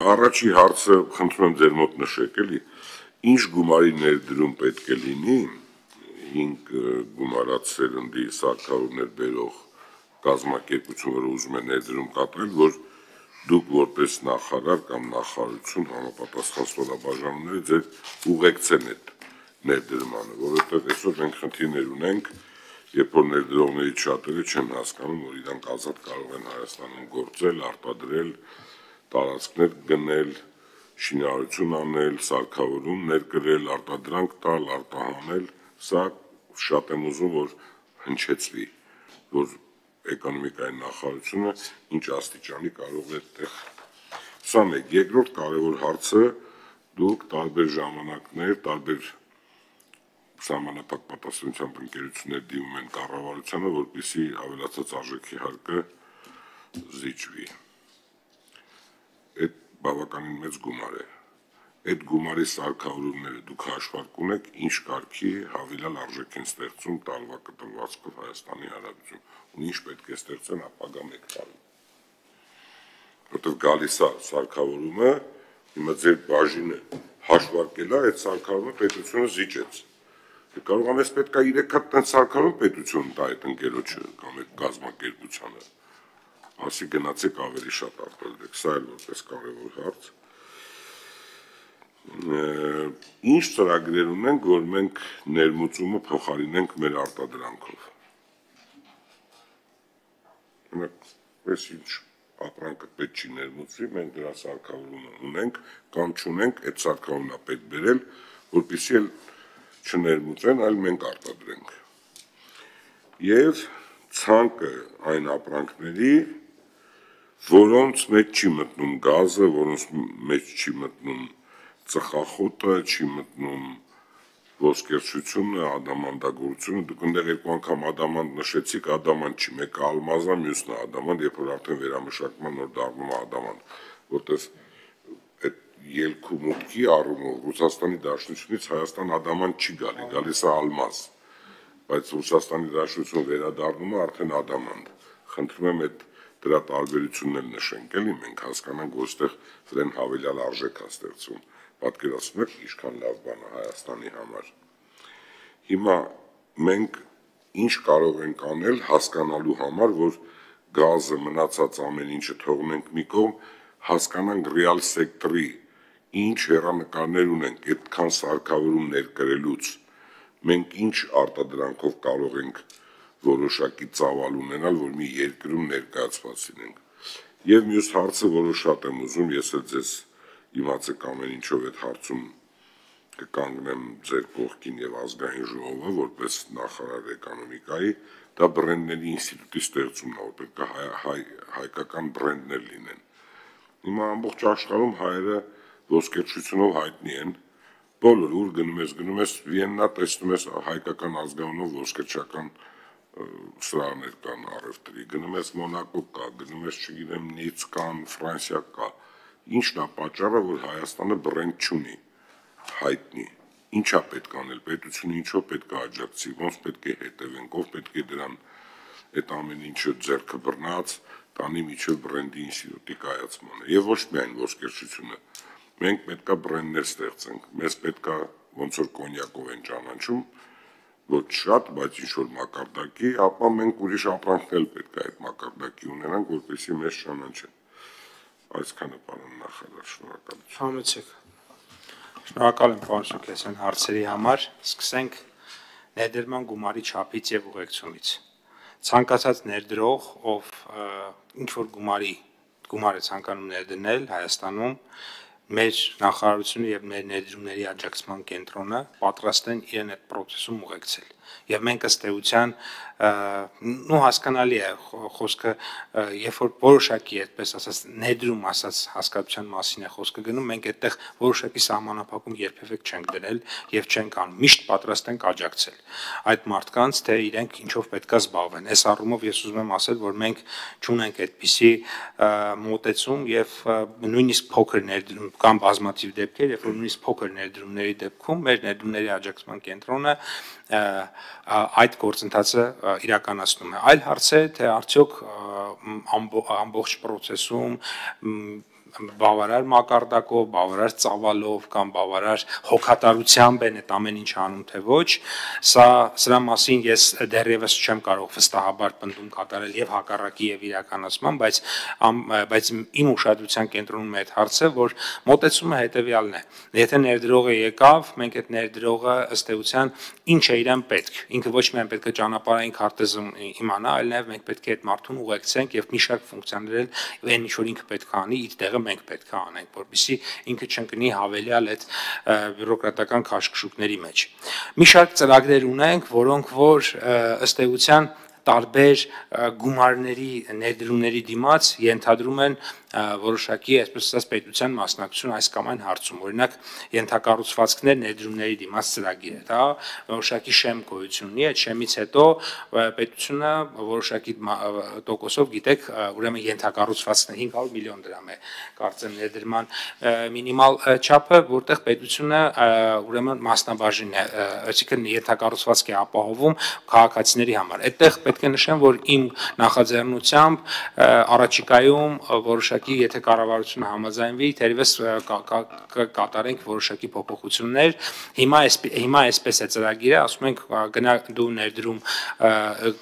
Առաջի հարցը խնդրում եմ ձեր մոտ նշեք, էլի, ինչ գումարի ներդրում պետք է լինի 5 գումարած սերնդի սարքավորումներ բերող կազմակերպություն, որը ուզում է ներդրում կատարել, որ դուք որպես նախարար կամ նախարարություն համապատասխան ստորաբաժանումները ձեր ուղեկցեն այդ ներդրմանը, որովհետև այսօր մենք խնդիրներ ունենք, երբ որ ներդրողներից շատերը չեն հասկանում, որ իրանք ազատ կարող են Հայաստանում գործել, արտադրել, տարածքներ գնել, շինարարություն անել, սարքավորում ներկրել, արտադրանք տալ, արտահանել, սա շատ եմ ուզում, որ հնչեցվի, որ էկոնոմիկայի նախարարությունը ինչ աստիճանի կարող է այդտեղ։ Սա մեկ, երկրորդ կարևոր հարցը դուք տարբեր ժամանակներ, տարբեր սահմանափակ պատասխանությամբ ընկերություններ դիմում են կառավարությանը, որպեսզի ավելացած արժեքի հարկը զիջվի։ Այդ բավականին մեծ գումար է։ Այդ գումարի սարքավորումները դուք հաշվարկ ունեք, ինչ կարգի հավելյալ արժեք են ստեղծում տարվա կտրվածքով Հայաստանի Հանրապետություն, ու ինչ պետք է ստեղծեն ապագա 1 տարում։ Որտեղ գալիս է սարքավորումը, հիմա ձեր բաժինը հաշվարկել է, այդ սարքավորումը պետությունը զիջեց։ Կարող ամենից պետք է 3 հատ տենց սարքավորում պետությունը տա այդ ընկերոջը կամ այդ կազմակերպությանը։ Ասի գնացեք ավելի շատ արտադրեք, սա էլ որպես կարևոր հարց։ Ինչ ծրագրեր ունենք, որ մենք ներմուծումը փոխարինենք մեր արտադրանքով։ Այս ինչ ապրանքը պետք չի ներմուծվի, մենք դրա սարքավորումը ունենք կամ չունենք, այդ սարքավորումն է պետք բերել, որպեսզի էլ չներմուծեն, այլ մենք արտադրենք։ Եվ ցանկը այն ապրանքների, որոնց մեջ չի մտնում գազը, որոնց մեջ չի մտնում ծխախոտը, չի մտնում ոսկերչությունը, ադամանդագործությունը, դուք այնտեղ 2 անգամ ադամանդ նշեցիք, ադամանդ չի, մեկը ալմազ է, մյուսն է ադամանդ, երբ որ արդեն վերամշակման նոր դառնում է ադամանդ, որտեղ այդ ելքու մուտքի առումով Ռուսաստանի Դաշնությունից Հայաստան ադամանդ չի գալի, գալիս է ալմազ, բայց Ռուսաստանի Դաշնություն վերադառնում է արդեն ադամանդ։ Խնդրում եմ այդ դրա տարբերությունն էլ նշենք, էլի մենք հասկանանք, որ այստեղ դրան հավելյալ արժեք է ստեղծում։ Պատկերացնում եք ինչքան լավ բան է Հայաստանի համար։ Հիմա մենք ինչ կարող ենք անել հասկանալու համար, որ գազը մնացած ամեն ինչը թողնենք մի կողմ, հասկանանք ռեալ սեկտորի ինչ հեռանկարներ ունենք այդքան սարքավորում ներկրելուց, մենք ինչ արտադրանքով կարող ենք որոշակի ծավալ ունենալ, որ մի երկրում ներկայացված լինենք։ Եվ մյուս հարցը, որը շատ եմ ուզում, ես էլ ձեզ իմացեք ամեն ինչով այդ հարցում կկանգնեմ ձեր կողքին եւ ազգային ժողովը, որպես նախարար էկոնոմիկայի, դա բրենդների ինստիտուտի ստեղծումն է, որ պետք է հայկական բրենդներ լինեն։ Հիմա ամբողջ աշխարհում հայերը ոսկերչությունով հայտնի են, բոլոր ուր գնում ես Վիեննա, տեսնում ես հայկական ազգանունով ոսկերչական սրահներ կան առևտրի, գնում ես Մոնակո կա, գնում ես, չգիտեմ, Նից կան, Ֆրանսիա կա, ինչն է պատճառը, որ Հայաստանը բրենդ չունի, հայտնի, ինչա պետք անել, պետությունը ինչով պետք է աջակցի, ոնց պետք է հետևենք, ով պետք է դրան այդ ամեն ինչը ձեռքը բռնած, տանի միջև բրենդի ինստիտուտի կայացմանը, եւ ոչ միայն ոսկերչությունը, մենք պետք է բրենդներ ստեղծենք, մեզ պետք է ոնց որ կոնյակով են ճանաչում, ոչ շատ, բայց ինչ-որ մակարդակի, ապա մենք ուրիշ ապրանքներ պետք է այդ մակարդակի ունենանք, որպեսզի մեզ ճանաչեն։ Այսքանը պարոն նախարար, շնորհակալություն։ Համեցեք։ Շնորհակալ եմ պարոն Սարգսյան հարցերի համար։ Սկսենք ներդրման գումարի չափից եւ ուղեկցումից։ Ցանկացած ներդրող, ով ինչ-որ գումար է ցանկանում ներդնել Հայաստանում, մեր նախարարությունը եւ մեր ներդրումների աջակցման կենտրոնը պատրաստ են իրեն այդ process-ում ուղեկցել։ Եվ մենք ըստ էության հասկանալի է խոսքը, երբ որ որոշակի այդպես ասած ներդրում ասած հասկացության մասին է խոսքը գնում, մենք այդտեղ որոշակի սահմանափակում երբևէ չենք դրել եւ չենք անում, միշտ պատրաստ ենք աջակցել այդ մարդկանց, թե իրենք ինչով պետքա զբաղվեն։ Այս առումով ես ուզում եմ ասել, որ մենք չունենք այդպիսի մոտեցում եւ նույնիսկ փոքր ներդրում կամ բազմաթիվ դեպքեր, երբ որ նույնիսկ փոքր ներդրումների դեպքում մեր ներդրումների աջակցման կենտրոնը այդ գործընթացը իրականացնում է։ Այլ հարց է, թե արդյոք ամբողջ process-ում բավարար մակարդակով, բավարար ծավալով կամ բավարար հոգատարությամբ են այդ ամեն ինչ անում թե ոչ, սրա մասին ես դեռևս չեմ կարող վստահաբար պնդում կատարել եւ հակառակի եւ իրականացման, բայց իմ ուշադրության կենտրոնում է այդ հարցը, որ մոտեցումը հետեւյալն է. եթե ներդրողը եկավ, մենք այդ ներդրողը ըստ էության ինչ է իրեն պետք, ինքը ոչ միայն պետք է ճանապարհային քարտեզը իմանա, այլ նաեւ մենք պետք է այդ մարդուն ուղեկցենք եւ մի շարք ֆունկցիաներ այն ինչ որ ինքը պետք է անի, իր տեղը մենք պետք է անենք, որպեսզի ինքը չընկնի հավելյալ այդ բյուրոկրատական քաշքշուկների մեջ։ Մի շարք ծրագրեր ունենք, որոնք որ ըստ էության տարբեր գումարների ներդրումների դիմաց ենթադրում են որոշակի, այսպես ասած, պետության մասնակցություն այս կամ այն հարցում։ Օրինակ, ենթակառուցվածքներ ներդրումների դիմաց ծրագիր է, դա որոշակի շեմ գոյություն ունի, այդ շեմից հետո պետությունը որոշակի տոկոսով, գիտեք, ուրեմն ենթակառուցվածքներ 500 միլիոն դրամ է, կարծեմ ներդրման մինիմալ չափը, որտեղ պետությունը ուրեմն մասնաբաժին է, այսինքն ենթակառուցվածք է ապահովում քաղաքացիների համար։ Այդտեղ պետք է նշեմ, որ իմ նախաձեռնությամբ առաջիկայում որոշակի եթե կառավարությունը համաձայնվի, թերևս կատարենք որոշակի փոփոխություններ։ Հիմա այսպես է ծրագիրը, ասում ենք գնա դու ներդրում,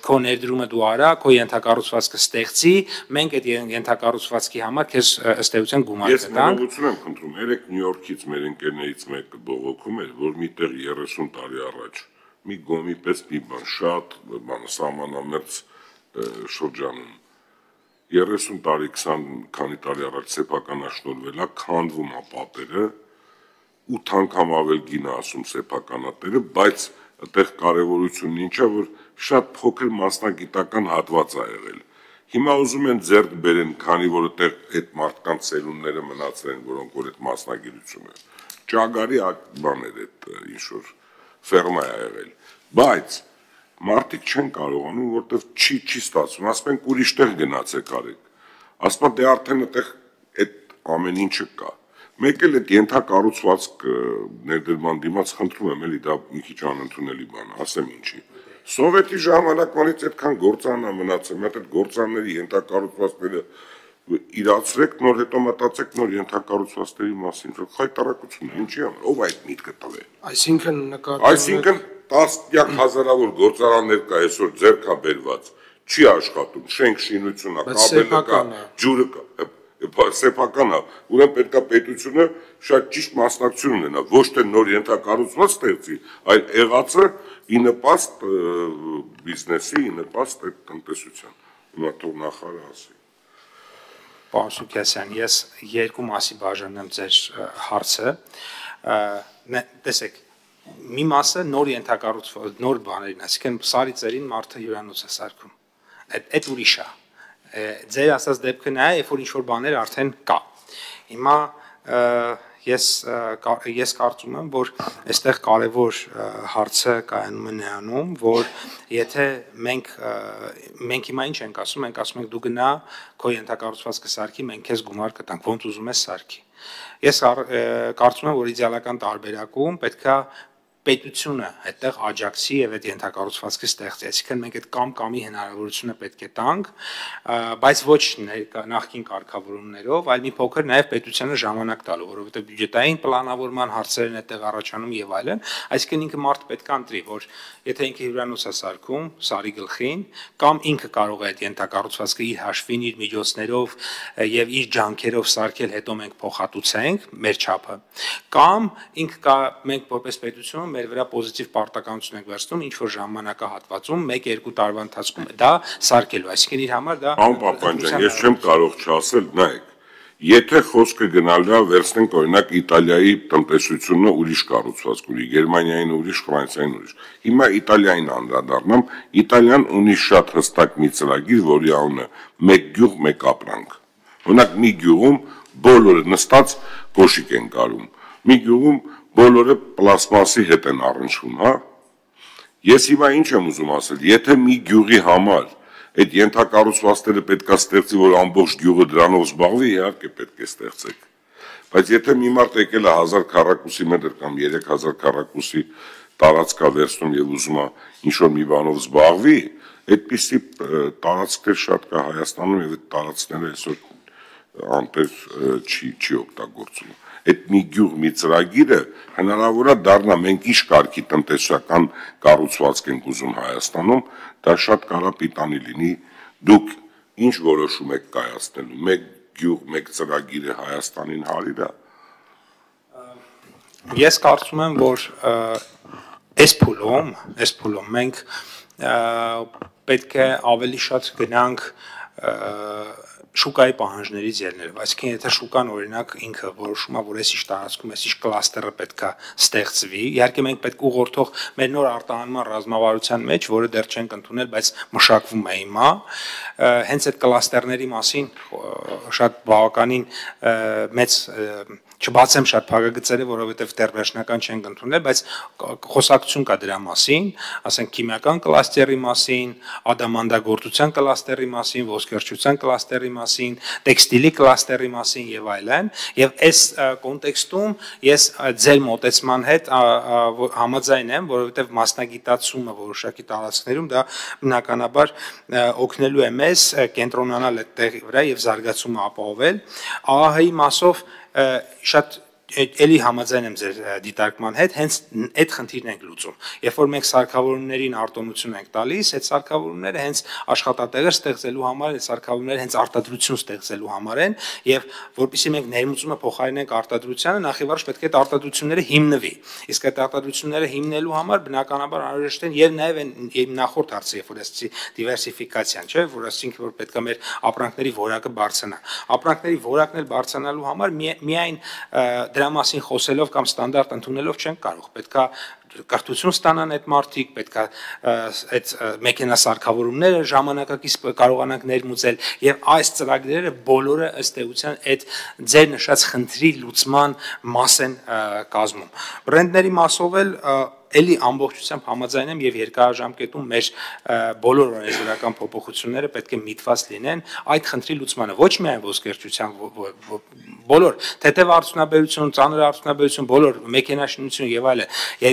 քո ներդրումը դու արա, քո ենթակառուցվածքը ստեղծի, մենք այդ ենթակառուցվածքի համար քեզ ըստ էության գումար կտանք։ Ես ներողություն եմ խնդրում, երեք Նյու Յորքից մեր ընկերներից մեկը բողոքում էր, որ միտեղ 30 տարի առաջ մի գոմի պես մի բան շատ սահմանամերձ շրջանում 30 տարի 20 քանի տարի առաջ սեփականաշնորհվել է, քանդվում է պատերը 8 անգամ ավել գին է ասում սեփականատերը, բայց այդտեղ կարևորությունն ինչ է, որ շատ փոքր մասնագիտական հատված է եղել։ Հիմա ուզում են ձեռք բերեն, քանի որ այդտեղ այդ մարդկանց ծերունները մնացել են, որոնք որ այդ մասնագիտությունը ճագարի բան էր այդ ինչ որ ֆերմա է եղել, բայց մարդիկ չեն կարողանում, որտեվ չի ստացվում, ասում են ուրիշ տեղ գնացեք արեք, ասում դե արդեն այդտեղ այդ ամեն ինչը կա, մեկ էլ այդ ենթակառուցվածք ներդրման դիմաց խնդրում եմ էլի դա մի քիչ անընդունելի բան է, ասեմ ինչի, սովետի ժամանակվանից այդքան գործան է մնացել, մի հատ այդ գործանների ենթակառուցվածքները իրացրեք, նոր հետո մտածեք նոր ենթակառուցվածքների մասին, որ խայտարակություն ինչի համար, ով այդ միտքը տվել։ Այսինքն տասնյակ հազարավոր գործարաններ կա այսօր ձեռք է բերված, չի աշխատում, շենք շինությունը, կաբելը կա, ջուրը կա, սեփական է, ուրեմն պետք է պետությունը շատ ճիշտ մասնակցություն ունենա, ոչ թե նոր ենթակառուցված ստեղծի, այլ եղածը ի նպաստ բիզնեսի, ի նպաստ այդ տնտեսության։ Հիմա թող նախարարը ասի։ Պարոն Սուքիասյան, ես երկու մասի բաժանեմ ձեր հարցը, տեսեք, մի մասը նոր ենթակառուցված, նոր բաներին, այսինքն սարի ծերին մարդը հյուրանոց է սարքում, այդ ուրիշ է, ձեր ասած դեպքը նա է, երբ որ ինչ-որ բաներ արդեն կա, հիմա ես կարծում եմ, որ այստեղ կարևոր հարցը կայանում է նրանում, որ եթե մենք հիմա ինչ ենք ասում, մենք ասում ենք դու գնա քո ենթակառուցվածքը սարքի, մենք քեզ գումար կտանք, ոնց ուզում ես սարքի։ Ես կարծում եմ, որ իդեալական տարբերակում պետքա պետությունը այդտեղ աջակցի եւ այդ ենթակառուցվածքը ստեղծի, այսինքն մենք այդ կամ-կամի հնարավորությունը պետք է տանք, բայց ոչ նախկին կարգավորումներով, այլ մի փոքր նաեւ պետությանը ժամանակ տալու, որովհետեւ բյուջետային պլանավորման հարցերն այդտեղ առաջանում եւ այլն, այսինքն ինքը մարդ պետք է ընտրի, որ եթե ինքը հյուրանոց է սարքում, սարի գլխին, կամ ինքը կարող է այդ ենթակառուցվածքը իր հաշվին, իր միջոցներով եւ իր ջանքերով սարքել, հետո մենք փոխհատուցենք մեր չափը, կամ ինքը մենք որպես պետություն մեր վրա պոզիտիվ պարտականություն ենք վերցնում ինչ որ ժամանակահատվածում 1-2 տարվա ընթացքում դա սարքելու, այսինքն իր համար դա Պարոն Պապանջյան, ես չեմ կարող չասել, նայեք, եթե խոսքը գնալու է վերցնենք օրինակ Իտալիայի տնտեսությունը ուրիշ կառուցվածք ունի, Գերմանիային ուրիշ, Ֆրանսիային ուրիշ։ Հիմա Իտալիային անդրադառնամ, Իտալիան ունի շատ հստակ մի ծրագիր, որի անունը մեկ գյուղ, մեկ ապրանք։ Օրինակ մի գյուղում բոլորը նստած կոշիկ են կարում, մի գյուղում բոլորը պլաստմասի հետ են առնչվում, հա։ Ես հիմա ինչ եմ ուզում ասել, եթե մի գյուղի համար այդ ենթակառուցվածքները պետք է ստեղծի, որ ամբողջ գյուղը դրանով զբաղվի, իհարկե պետք է ստեղծեք։ Բայց եթե մի մարդ եկել է 1000 քառակուսի մետր կամ 3000 քառակուսի տարածք է վերցնում եւ ուզում է ինչ-որ մի բանով զբաղվի, այդպիսի տարածքներ շատ կա Հայաստանում եւ այդ տարածքները այսօր անպես չի օգտագործվում։ Այդ մի գյուղ մի ծրագիրը հնարավոր է դառնա մենք ինչ կարգի տնտեսական կառուցվածք ենք ուզում Հայաստանում, դա շատ կարա պիտանի լինի, դուք ինչ որոշում եք կայացնելու, մեկ գյուղ, մեկ ծրագիրը Հայաստանին հարիր է։ Ես կարծում եմ, որ այս փուլում մենք պետք է ավելի շատ գնանք շուկայի պահանջներից ելնելով, այսինքն եթե շուկան օրինակ ինքը որոշում է, որ այսիշ տարածքում այսիշ կլաստերը պետք է ստեղծվի, իհարկե մենք պետք ուղղորդող մեր նոր արտահանման ռազմավարության մեջ, որը դեռ չենք ընդունել, բայց մշակվում է հիմա, հենց այդ կլաստերների մասին շատ բավականին մեծ չբացեմ շատ փակագծերը, որովհետև դեռ վերջնական չենք ընդունել, բայց խոսակցություն կա դրա մասին, ասենք քիմիական կլաստերի մասին, ադամանդագործության կլաստերի մասին, ոսկերչության կլաստերի մասին, տեքստիլի կլաստերի մասին եւ այլն, եւ այս կոնտեքստում ես ձեր մոտեցման հետ համաձայն եմ, որովհետև մասնագիտացումը որոշակի տարածքներում դա բնականաբար օգնելու է մեզ կենտրոնանալ այդ տեղի վրա եւ զարգացումը ապահովել, ԱԱՀ-ի մասով շատ էլի համաձայն եմ ձեր դիտարկման հետ, հենց այդ խնդիրն ենք լուծում։ Երբ որ մենք սարքավորումներին արտոնություն ենք տալիս, այդ սարքավորումները հենց աշխատատեղեր ստեղծելու համար, այդ սարքավորումները հենց արտադրություն ստեղծելու համար են, եւ որպեսզի մենք ներմուծումը փոխարինենք արտադրությանը, նախ եւ առաջ պետք է այդ արտադրությունները հիմնվի։ Իսկ այդ արտադրությունները հիմնելու համար բնականաբար անհրաժեշտ են եւ նաեւ նախորդ հարցը, երբ որ ասեցի դիվերսիֆիկացիան, չէ՞, որ ասինք որ պետք է մեր ապրանքների որակը բարձրանա։ Ապրանքների որակն էլ բարձրանալու համար միայն դրա մասին խոսելով կամ ստանդարտ ընդունելով չենք կարող, պետքա կրթություն ստանան այդ մարդիկ, պետքա այդ մեքենասարքավորումները ժամանակակից կարողանանք ներմուծել եւ այս ծրագրերը բոլորը ըստ էության այդ ձեր նշած խնդրի լուծման մաս են կազմում։ Բրենդների մասով էլ էլի ամբողջությամբ համաձայն եմ եւ երկարաժամկետում մեր բոլոր օրենսդրական փոփոխությունները պետք է միտված լինեն այդ խնդրի լուծմանը, ոչ միայն ոսկերչության բոլոր թեթև արդյունաբերություն, ծանր արդյունաբերություն, բոլոր մեքենաշինություն եւ այլն։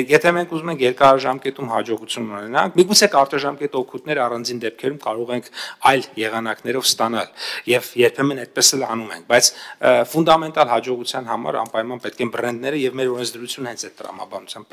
Եթե մենք ուզում ենք երկարաժամկետում հաջողություն ունենանք, միգուցե կարճաժամկետ օգուտներ առանձին դեպքերում կարող ենք այլ եղանակներով ստանալ եւ երբեմն այդպես էլ անում ենք, բայց ֆունդամենտալ հաջողության համար անպայման պետք են բրենդները եւ մեր օրենսդրությունը հենց այդ տրամաբանությամբ